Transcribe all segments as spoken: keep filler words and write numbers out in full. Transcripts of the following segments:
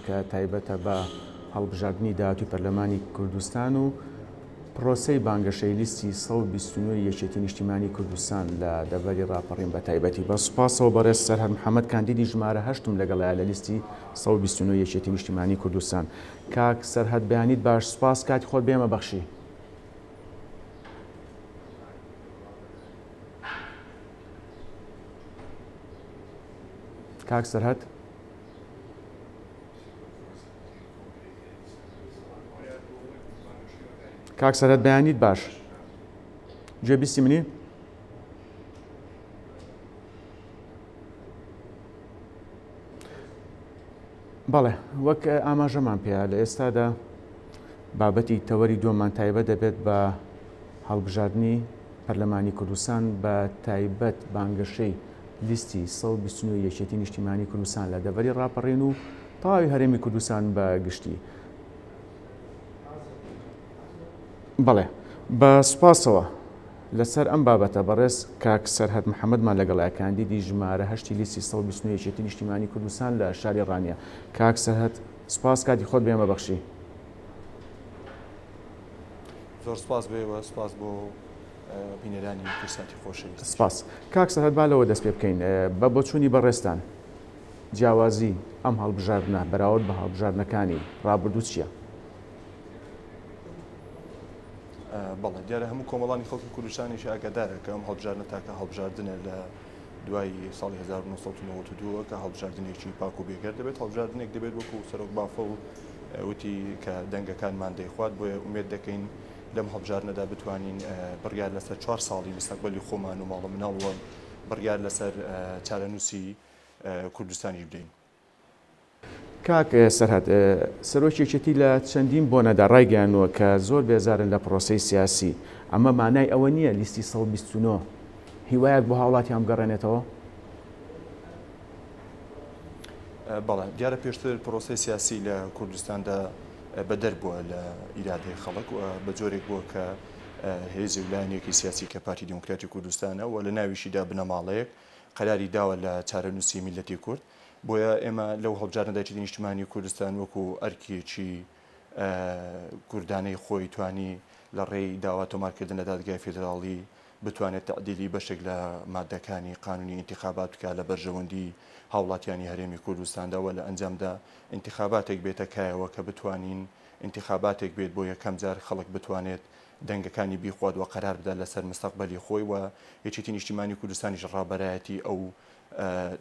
کە تایبەتە بە هەڵبژاردنی داهاتووی پەرلەمانی کوردستان و پرۆسەی بانگەشەی لیستی سەد و بیست و نۆ یەکێتی نیشتیمانی کوردستان لە دەڤەری ڕاپەڕین بە تایبەتی. بە سوپاسەوە بەڕێز سەرهەد محەممەد کاندیدی ژمارە هەشتم لەگەڵایە لە لیستی سەد و بیست و نۆ یەکێتی نیشتیمانی کوردستان. کاک سەرهەد بەیانیت باش، سوپاس کاتی خۆت بێمە بەخشی. کاک سەرهەد کاک سەرهەد بەیانیت باش، گوێبیستی منی؟ بەڵێ، وەک ئاماژەمان پێیە لە ئێستادا بابەتی تەوەری دووەمان تایبەت دەبێت بە هەڵبژاردنی پەرلەمانی کوردستان، بە تایبەت بانگەشەی لیستی سەد و بیست و نۆ یەکێتی نیشتیمانی کوردستان لە دەڤەری ڕاپەڕین و تەواوی هەرێمی کوردستان بە گشتی. بەڵێ، بە سوپاسەوە لەسەر ئەم بابەتە بەڕێز کاک سەرهەد محەممەدمان لەگەڵایە، کاندیدی ژمارە هەشتی لیستی سەد و بیست و نۆ یەکێتی نیشتیمانی کوردستان لە شاری ڕانیە. کاک سەرهەد سوپاس کاتی خۆت بێمە بەخشی. زۆر سوپاس بێوە، سوپاس بۆ بینەرانی کوردساتی خۆشەویست. سپاس. کاک سەرهەد با لەوە دەست پێ بکەین، بە بۆچوونی بەڕێزتان جیاوازی ئەم هەڵبژاردنە بەراورد بە هەڵبژاردنەکانی ڕابردوو چییە؟ بەڵێ، دیارە هەموو کۆمەڵانی خەڵکی کوردستانیش ئاگادارە کە ئەم هەڵبژاردنە تاکە هەڵبژاردنە لە دوای ساڵی هەزار و نۆ سەد و نەوەد و دوو کە هەڵبژاردنێکی پاک و بێگەرد دەبێت، هەڵبژاردنێک دەبێت وەکو سەرۆک بافڵ وتی کە دەنگەکانمان دەیخوات. بۆیە ئومێد دەکەین لەم هەڵبژاردنەدا بتوانین بڕیار لەسەر چوار ساڵی مستەقبەلی خۆمان و ماڵە مناڵەوە بڕیار لەسەر چارەنووسی کوردستانیش بدەین. کاک سەرهەد، سەرۆکی یەکێتی لە چەندین بۆنەدا ڕایگەیانووە کە زۆر بێزارن لە پرۆسەی سیاسی. ئەمە مانای ئەوە نییە لیستی سەد و بیست و نۆ هیوایەک بۆ هاوڵاتیان بگەڕێنێتەوە؟ بەڵێ، دیارە پێشتر پرۆسەی سیاسی لە کوردستاندا بەدەر بووە لە ئیرادەی خەڵک و بە جۆرێک بووە کە هێزی و لایەنێکی سیاسی کە پارتی دیموکراتی کوردستانە و لە ناویشیدا بنەماڵەیەک قەراری داوە لە چارەنووسی میللەتی کورد. بۆیە ئێمە لەو هەڵبژاردنەدا یەکێتی نیشتیمانی کوردستان وەکو ئەرکێکی کوردانەی خۆی توانی لە ڕێی داوا تۆمارکردن لە دادگای فیدراڵی بتوانێت تعدیلی بەشێک لە مادەکانی قانونی ئینتخابات بکات لە بەرژەوەندی هاوڵاتیانی هەرێمی کوردستاندا و لە ئەنجامدا ئینتخاباتێک بێتە کایەوە کە بتوانین ئینتخاباتێک بێت بۆ یەکەم جار خەڵک بتوانێت دەنگەکانی بیخوات و قەرار بدات لەسەر مستەقبەلی خۆی و یەکێتی نیشتیمانی کوردستانیش ڕابەرایەتی ئەو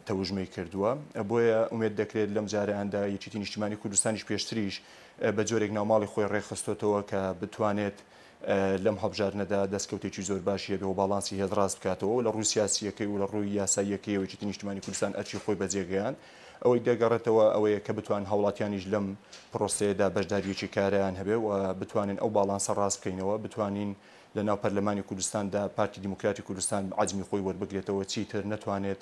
تەوژمەی کردووە. بۆیە ئومێد دەکرێت لەم جارەیاندا یەکێتی نیشتیمانی کوردستانیش پێشتریش بە جۆرێک ناوماڵی خۆی ڕێکخستۆتەوە کە بتوانێت لەم هەڵبژاردنەدا دەستکەوتێکی زۆر باشی هەبێ و باڵانسی هێز ڕاست بکاتەوە و لە ڕووی سیاسیەکەی و لە ڕووی یاساییەکەیەوە یەکێتی نیشتیمانی کوردستان ئەرکی خۆی بەجێگەیاند. ئەوەی دەگەڕێتەوە ئەوەیە کە بتوان هاوڵاتیانیش لەم پرۆسەیەدا بەشداریەکی کارەیان هەبێ و بتوانین ئەو باڵانسە ڕاست بکەینەوە، بتوانین لە ناو پەرلەمانی کوردستاندا پارتی دیموکراتی کوردستان عەزمی خۆی وەربگرێتەوە، چیتر نەتوانێت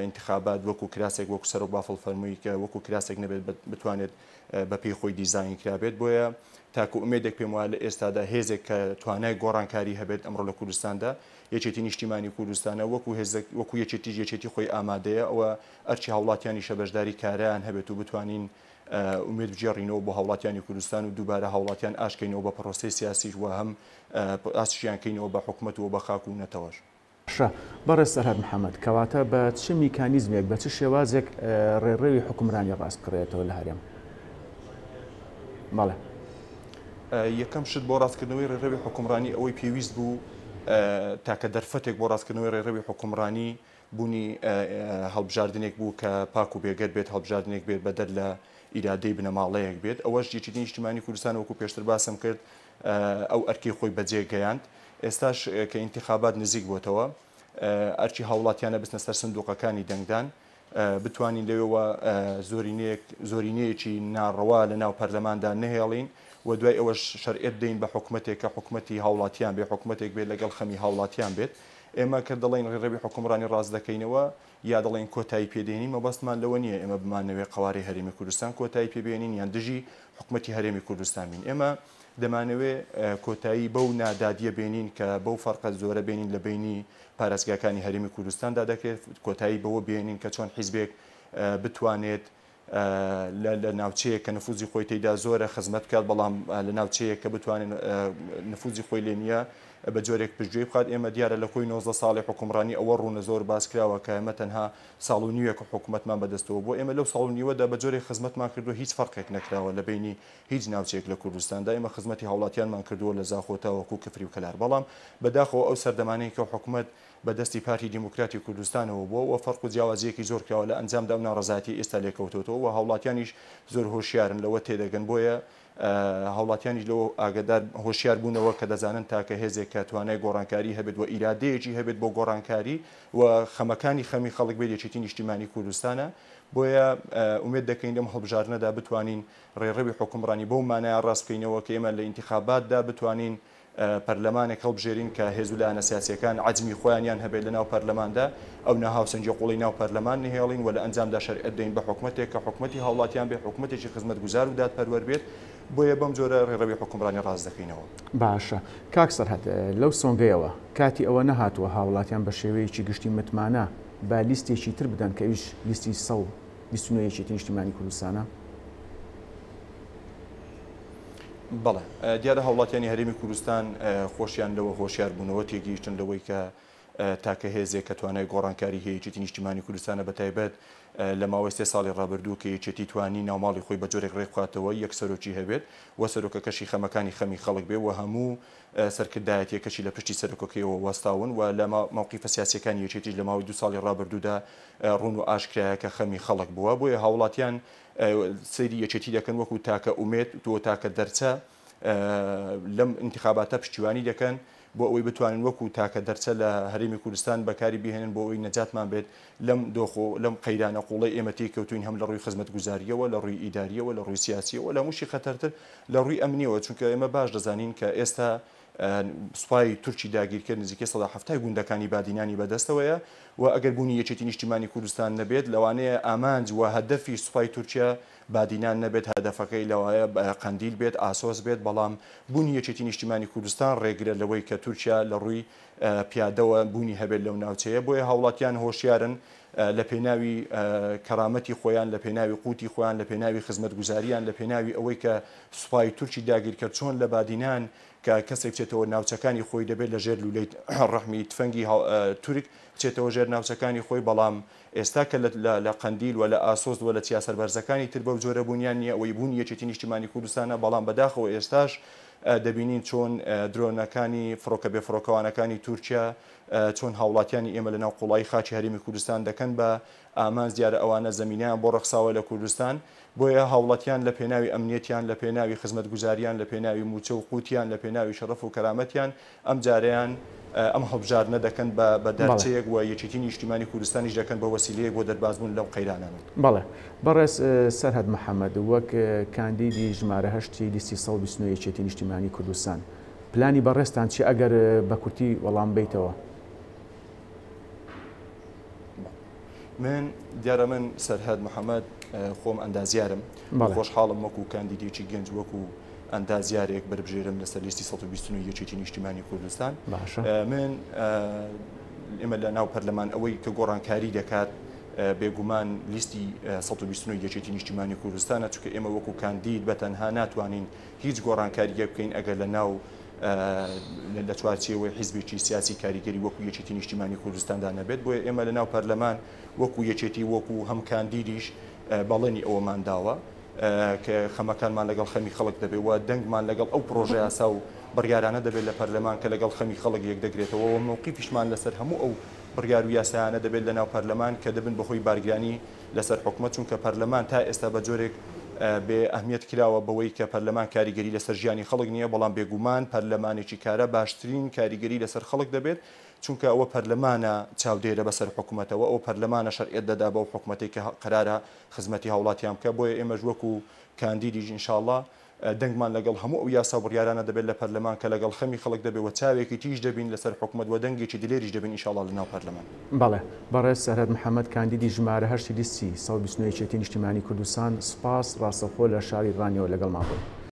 ئینتخابات وەکو کراسێک وەکو سەرۆک بافڵ فەرمووی کە وەکو کراسێک نەبێت بتوانێت بە پێی خۆی دیزاین کرابێت. بۆیە تاکو ئومێدێک پێم وایە لە ئێستادا هێزێک کە توانای گۆڕانکاری هەبێت ئەمڕۆ لە کوردستاندا یەکێتی نیشتیمانی کوردستانە، وەکو هێزێک وەکو یەکێتیش یەکێتی خۆی ئامادەیە ئەوە ئەرچی هاوڵاتیانیشە بەشداری کارەیان هەبێت و بتوانین ئومێد بگێڕینەوە بۆ هاوڵاتیانی کوردستان و دووبارە هاوڵاتیان ئاشکەینەوە بە پرۆسەی سیاسیش و هەم ئاسشیان کەینەوە بە حکومەت و بە خاک و نەتەوەش. باشە بەڕێز سەرهەد محەممەد، کەواتە بە چ میکانیزمێک بە چ شێوازێک ڕێڕەوی حکومرانی ڕاست بکرێتەوە لە هەرێم؟ بەڵێ. یەکەم شت بۆ ڕاستکردنەوەی ڕێڕەوی حکومڕانی ئەوەی پێویست بوو تاکە دەرفەتێک بۆ ڕاستکردنەوەی ڕێڕەوی حکومڕانی بوونی هەڵبژاردنێک بوو کە پاک و بێگەرد بێت، هەڵبژاردنێک بێت بەدەر لە ئیرادەی بنەماڵەیەک بێت. ئەوەش یەکێتی نیشتیمانی کوردستان وەکو پێشتر باسم کرد ئەو ئەرکەی خۆی بەجێگەیاند. ئێستاش کە ئینتخابات نزیک بۆتەوە ئەرکی هاوڵاتیانە بچنە سەر سندوقەکانی دەنگدان، بتوانین لەوێوە زۆرینەیەکی ناڕەوا لە ناو پەرلەماندا نەهێڵین و دوای ئەوەش شەرعیەت بدەین بە حکومەتێک کە حکومەتی هاوڵاتیان بێت، حکومەتێک بێت لەگەڵ خەمی هاوڵاتیان بێت. ئێمە کە دەڵێن ڕێڕەوی حکومڕانی ڕاست دەکەینەوە یا دەڵێن کۆتایی پێدێنین، مەبەستمان لەوە نییە ئێمە بمانەوێت قەوارەی هەرێمی کوردستان کۆتایی پێبێنین یان دژی حکومەتی هەرێمی کوردستان بین. ئێمە دەمانەوێت کۆتایی بەو نادادیە بێنین کە بەو فەرقە زۆرە بێنین لە بینی پارێزگاکانی هەرێمی کوردستاندا دەکرێت، کۆتایی بەوە بێنین کە چۆن حیزبێک بتوانێت لە ناوچەیە کە نفوزی خۆی تێدا زۆرە خزمەت بکات، بەڵام لە ناوچەیە کە بتوانێت نفوزی خۆی لێ نییە بە جۆرێک پشتگوێی بخات. ئێمە دیارە لە کۆی نۆزدە ساڵی حکومڕانی ئەوە ڕوونە زۆر باس کراوە کە ئێمە تەنها ساڵ و نیوێک حکوومەتمان بەدەستەوە بۆ ئێمە لەو ساڵ و نیوەدا بە جۆرێک خزمەتمان کردووە هیچ فەرقێک نەکراوە لە بینی هیچ ناوچەیەک لە کوردستاندا. ئێمە خزمەتی هاوڵاتیانمان کردووە لە زاخۆ تاوەکو کفری و کەلار، بەڵام بەداخەوە ئەو سەردەمانەی کە حکوومەت بەدەستی پارتی دیموکراتی کوردستانەوە بووە و فەرق و جیاوازیەکی زۆر کراوە لە ئەنجامدا ئەو ناڕەزایەتی ئێستا لێکەوتۆتەوە و هاوڵاتیانیش زۆر هۆشیارن لەوە تێدەگەن. بۆیە هاوڵاتیانیش لەوە ئاگادار هۆشیار بوونەوە کە دەزانن تاکە هێزێک کە توانای گۆڕانکاری هەبێت و ئیرادەیەکی هەبێت بۆ گۆڕانکاری و خەمەکانی خەمی خەڵک بێت یەکێتی نیشتیمانی کوردستانە. بۆیە ئومێد دەکەین لەم هەڵبژاردنەدا بتوانین ڕێڕەوی حکومڕانی بەو مانایە ڕاست بکەینەوە کە ئێمە لە ئینتیخاباتدا بتوانین پەرلەمانێک هەڵبژێرین کە هێز و لایەنە سیاسیەکان عەجمی خۆیانیان هەبێت لە ناو پەرلەماندا، ئەو ناهاوسەنگی قوڵی ناو پەرلەمان نهێڵین و لە ئەنجامدا شەرعیەت دەین بە حکومەتێک کە حکومەتی هاوڵاتیان بێت، حکومەتێکی خزمەتگوزار و دادپەروەر بێت. بۆیە بەم جۆرە ڕێڕەوی حکومڕانی ڕاست دەکەینەوە. باشە کاک سەرهەد، لەو سۆنگەیەوە کاتی ئەوە نەهاتووە هاوڵاتیان بە شێوەیەکی گشتی متمانە با لیستێکی تر بدەن کە ئەویش لیستی سەد و بیست و نۆ یەکێتی نیشتیمانی کوردستانە؟ بەڵێ، دیارە هاوڵاتیانی هەرێمی کوردستان خۆشیان لەوە هۆشیار بوونەوە، تێگەیشتن لەوەی کە تاکە هێزێک کە توانای گۆڕانکاری هەیە یەکێتی نیشتیمانی کوردستانە، بە تایبەت لە ماوەی سێ ساڵی ڕابردوو کە یەکێتی توانی ناوماڵی خۆی بە جۆرێک ڕێک بخاتەوە یەک سەرۆکی هەبێت و سەرۆکەکەشی خەمەکانی خەمی خەڵک بێ و هەموو سەرکردایەتیەکەشی لە پشتی سەرۆکەکەیەوە وەستاون و لە مەوقیفە سیاسیەکانی یەکێتیش لە ماوەی دوو ساڵی ڕابردوودا ڕوون و ئاشکرایە کە خەمی خەڵک بووە. بۆیە هاوڵاتیان سەیری یەکێتی دەکەن وەکو تاکە ئومێد و تاکە دەرچە لەم ئینتیخاباتە پشتیوانی دەکەن بۆ ئەوەی بتوانن وەکو تاکە دەرچە لە هەرێمی کوردستان بەکاری بهێنن بۆ ئەوەی نەجاتمان بێت لەم دۆخ و لەم قەیرانە قوڵەی ئێمە تێکەوتوین، هەم لە ڕووی خزمەتگوزاریەوە، لە ڕووی ئیداریەوە، لە ڕووی سیاسیەوە، لە هەمووشی خەتەرتر لە ڕووی ئەمنیەوە. چونکە ئێمە باش دەزانین کە ئێستا سوپای تورکی داگیرکرد نزیکەی سەدا حەفتای گوندەکانی بادینانی بەدەستەوەیە و ئەگەر بوونی یەکێتی نیشتیمانی کوردستان نەبێت لەوانەیە ئامانج و هەدەفی سوپای تورکیا بادینان نەبێت، هەدەفەکەی لەوایە قەندیل بێت، ئاسۆس بێت، بەڵام بوونی یەکێتی نیشتیمانی کوردستان ڕێگرە لەوەی کە تورکیا لە ڕووی پیادەوە بوونی هەبێت لەو ناوچەیە. بۆیە هاوڵاتیان هۆشیارن لە پێناوی کەرامەتی خۆیان، لە پێناوی قوتی خۆیان، لە پێناوی خزمەتگوزاریان، لە پێناوی ئەوەی کە سوپای تورکی داگیرکرد چۆن لە بادینان کە کەسێک بچێتەوە ناوچەکانی خۆی دەبێت لە ژێر لولەی ڕەحمی تفەنگی تورک بچێتەوە ژێر ناوچەکانی خۆی، بەڵام ئێستا کە لە قەندیل و لە ئاسۆس و لە چیا سەربەرزەکانی تر بەو جۆرە بوونیان نییە، ئەوەی بوونی یەکێتی نیشتیمانی کوردستانە. بەڵام بەداخەوە ئێستاش دەبینین چۆن درۆنەکانی فڕۆکە بێفڕۆکەوانەکانی تورکیا چۆن هاوڵاتیانی ئێمە لەناو قوڵایی خاکی هەرێمی کوردستان دەکەن بە ئامانج. دیارە ئەوانە زەمینیان بۆ ڕەخساوە لە کوردستان، بۆیە هاوڵاتیان لە پێناوی ئەمنیەتیان، لە پێناوی خزمەتگوزاریان، لە پێناوی موچە و قوتیان، لە پێناوی شەرەف و کەرامەتیان ئەم جارەیان ئەم هەڵبژاردنە دەکەن بە دەرچەیەک و یەکێتی نیشتیمانی کوردستانیش دەکەن بە وەسیلەیەک بۆ دەربازبوون لەو قەیرانانە. بەڵێ بەڕێز سەرهەد محەممەد، وەک کاندیدی ژمارە هەشتی لیستی سەد و بیست و نۆ یەکێتی نیشتیمانی کوردستان، پلانی بەڕێزتان چی ئەگەر بە کورتی وەڵام بیتەوە؟ من دیارە من سەرهەد محەممەد خۆم ئەندازیارم، خۆشحاڵم وەکو کاندیدێکی گەنج وەکو ئەندازیارێک بەربژێرم لەسەر لیستی سەد و بیست و نۆ یەکێتی نیشتیمانی کوردستان. من ئێمە لە ناو پەرلەمان ئەوەی کە گۆڕانکاری دەکات بێگومان لیستی سەد و بیست و نۆ یەکێتی نیشتیمانی کوردستانە، چونکە ئێمە وەکو کاندید بە تەنها ناتوانین هیچ گۆڕانکاریەک بکەین ئەگەر لە ناو لە چوارچێوەی حیزبێکی سیاسی کاریگەری وەکو یەکێتی نیشتیمانی کوردستاندا نەبێت. بۆیە ئێمە لە ناو پەرلەمان وەکو یەکێتی وەکو هەم کاندیدیش بەڵێنی ئەوەمان داوە کە خەمەکانمان لەگەڵ خەمی خەڵک دەبێت و دەنگمان لەگەڵ ئەو پرۆژە یاسا و بڕیارانە دەبێت لە پەرلەمان کە لەگەڵ خەمی خەڵک یەک دەگرێتەوە و مەوقیفیشمان لەسەر هەموو ئەو بڕیار و یاسایانە دەبێت لە ناو پەرلەمان کە دەبن بەهۆی بارگرانی لەسەر حکومەت، چونکە پەرلەمان تا ئێستا بە جۆرێک بێ ئەهمیەت کراوە بەوەی کە پەرلەمان کاریگەری لەسەر ژیانی خەڵک نییە، بەڵام بێگومان پەرلەمانێکی کارە باشترین کاریگەری لەسەر خەڵک دەبێت، چونکە ئەوە پەرلەمانە چاودێرە بەسەر حکوومەتەوە، ئەو پەرلەمانە شەرعیەت دەدا بەو حکوومەتێک کە قەرارە خزمەتی هاوڵاتیان بکە. بۆیە ئێمەش وەکو کاندیدیش ئینشاءڵڵا دەنگمان لەگەڵ هەموو ئەو یاسا و بڕیارانە دەبێت لە پەرلەمان کە لەگەڵ خەمی خەڵک دەبێت و چاوێکی تیژ دەبین لەسەر حکوومەت و دەنگێکی دلێریش دەبین ئینشاءڵڵا لەناو پەرلەمان. بەڵێ بەڕێز سەرهەد محەممەد، کاندیدی ژمارە هەشتی لیستی سەد و بیست و نۆ یەکێتی نیشتیمانی کوردستان، سپاس ڕاستەوخۆ لە شاری ڕانیەوە لەگەڵمان بوون.